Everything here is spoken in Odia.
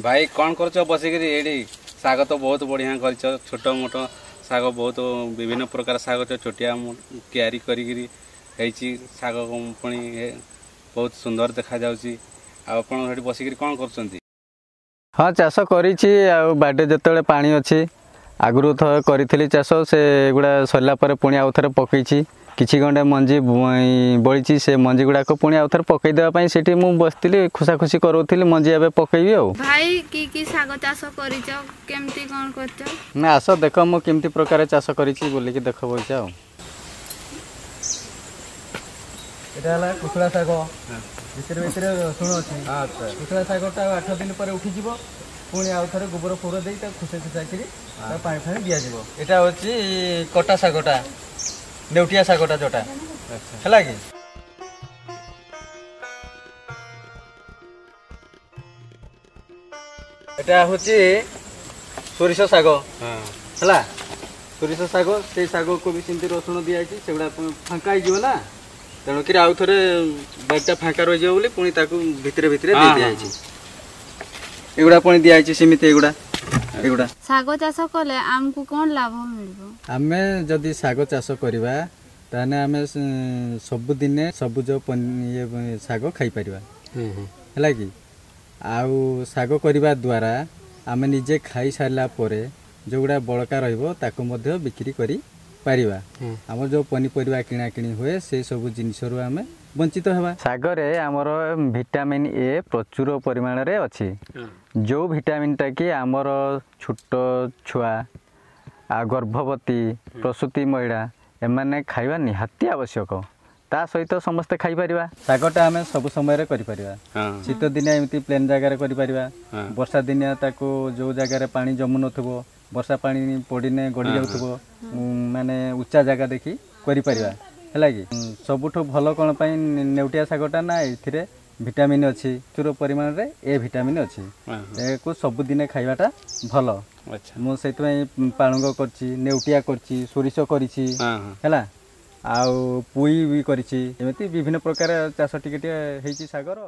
ଭାଇ କ'ଣ କରୁଛ ବସିକିରି ଏଇଠି? ଶାଗ ତ ବହୁତ ବଢ଼ିଆ କରିଛ, ଛୋଟ ମୋଟ ଶାଗ, ବହୁତ ବିଭିନ୍ନ ପ୍ରକାର ଶାଗ ଛୋଟିଆ କିଆରି କରିକିରି ହେଇଛି ଶାଗ, ପୁଣି ବହୁତ ସୁନ୍ଦର ଦେଖାଯାଉଛି। ଆଉ ଆପଣ ସେଠି ବସିକିରି କ'ଣ କରୁଛନ୍ତି? ହଁ, ଚାଷ କରିଛି। ଆଉ ବାଡ଼ିରେ ଯେତେବେଳେ ପାଣି ଅଛି, ଆଗରୁ ଥରେ କରିଥିଲି ଚାଷ, ସେଗୁଡ଼ା ସରିଲା ପରେ ପୁଣି ଆଉ ଥରେ ପକେଇଛି। କିଛି ଗଣ୍ଡେ ମଞ୍ଜି ବଳିଛି, ସେ ମଞ୍ଜି ଗୁଡ଼ାକ ପୁଣି ଆଉ ଥରେ ପକେଇ ଦେବା ପାଇଁ ସେଠି ମୁଁ ବସିଥିଲି, ଖୁସାଖୁସି କରାଉଥିଲି। ମଞ୍ଜି ଏବେ ପକେଇବି। ଆଉ ଭାଇ, କି କି ଶାଗ ଚାଷ କରିଛ, କେମିତି କ'ଣ କରିଛ? ନା, ଆସ ଦେଖ ମୁଁ କେମିତି ପ୍ରକାର ଚାଷ କରିଛି ବୋଲିକି ଦେଖ ବଇଛ। ଆଉ ଏଇଟା ହେଲା କୁଶଳା ଶାଗ, ଭିତରେ ଭିତରେ ରସୁଣ ଅଛି। କୁଶଳା ଶାଗଟା ଆଉ 8 ଦିନ ପରେ ଉଠିଯିବ। ପୁଣି ଆଉ ଥରେ ଗୋବର ଫୋବର ଦେଇ ତାକୁ ଖୁସେଇ ଖୁସାଇକିରି ତାକୁ ପାଣି ଫାଣି ଦିଆଯିବ। ଏଇଟା ହେଉଛି କଟା ଶାଗଟା, ନେଉଟିଆ ଶାଗଟା ଯୋଉଟା ହେଲା କି। ଏଟା ହେଉଛି ସୋରିଷ ଶାଗ ହେଲା, ସୋରିଷ ଶାଗ। ସେଇ ଶାଗକୁ ବି ସେମିତି ରସୁଣ ଦିଆଯାଇଛି। ସେଗୁଡ଼ା ଫାଙ୍କା ହେଇଯିବ ନା, ତେଣୁକରି ଆଉ ଥରେ ବାଡ଼ିଟା ଫାଙ୍କା ରହିଯିବ ବୋଲି ପୁଣି ତାକୁ ଭିତରେ ଭିତରେ ଦେଇ ଦିଆଯାଇଛି। ଏଗୁଡ଼ା ପୁଣି ଦିଆଯାଇଛି ସେମିତି ଏଗୁଡ଼ା ଏଗୁଡ଼ା। ଶାଗ ଚାଷ କଲେ ଆମକୁ କ'ଣ ଲାଭ ମିଳିବ? ଆମେ ଯଦି ଶାଗ ଚାଷ କରିବା, ତାହେଲେ ଆମେ ସବୁଦିନେ ସବୁଜ ଇଏ ଶାଗ ଖାଇପାରିବା ହେଲା କି। ଆଉ ଶାଗ କରିବା ଦ୍ୱାରା ଆମେ ନିଜେ ଖାଇସାରିଲା ପରେ ଯେଉଁଗୁଡ଼ା ବଳକା ରହିବ, ତାକୁ ମଧ୍ୟ ବିକ୍ରି କରିପାରିବା। ଆମର ଯେଉଁ ପନିପରିବା କିଣାକିଣି ହୁଏ, ସେ ସବୁ ଜିନିଷରୁ ଆମେ ବଞ୍ଚିତ ହେବା। ଶାଗରେ ଆମର ଭିଟାମିନ୍ ଏ ପ୍ରଚୁର ପରିମାଣରେ ଅଛି, ଯେଉଁ ଭିଟାମିନ୍ଟା କି ଆମର ଛୋଟ ଛୁଆ ଆଉ ଗର୍ଭବତୀ, ପ୍ରସୂତି ମହିଳା ଏମାନେ ଖାଇବା ନିହାତି ଆବଶ୍ୟକ। ତା ସହିତ ସମସ୍ତେ ଖାଇପାରିବା। ଶାଗଟା ଆମେ ସବୁ ସମୟରେ କରିପାରିବା। ଶୀତ ଦିନିଆ ଏମିତି ପ୍ଲେନ୍ ଜାଗାରେ କରିପାରିବା। ବର୍ଷା ଦିନିଆ ତାକୁ ଯେଉଁ ଜାଗାରେ ପାଣି ଜମୁନଥିବ, ବର୍ଷା ପାଣି ପଡ଼ିନେ ଗଡ଼ି ଯାଉଥିବ, ମାନେ ଉଚ୍ଚା ଜାଗା ଦେଖି କରିପାରିବା ହେଲା କି। ସବୁଠୁ ଭଲ କ'ଣ ପାଇଁ ନେଉଟିଆ ଶାଗଟା ନା, ଏଥିରେ ଭିଟାମିନ୍ ଅଛି, ପ୍ରଚୁର ପରିମାଣରେ ଏ ଭିଟାମିନ୍ ଅଛି। ଏହାକୁ ସବୁଦିନେ ଖାଇବାଟା ଭଲ। ମୁଁ ସେଇଥିପାଇଁ ପାଳଙ୍ଗ କରିଛି, ନେଉଟିଆ କରିଛି, ସୋରିଷ କରିଛି ହେଲା, ଆଉ ପୋଇ ବି କରିଛି। ଏମିତି ବିଭିନ୍ନ ପ୍ରକାର ଚାଷ ଟିକେ ଟିକେ ହେଇଛି ଶାଗର।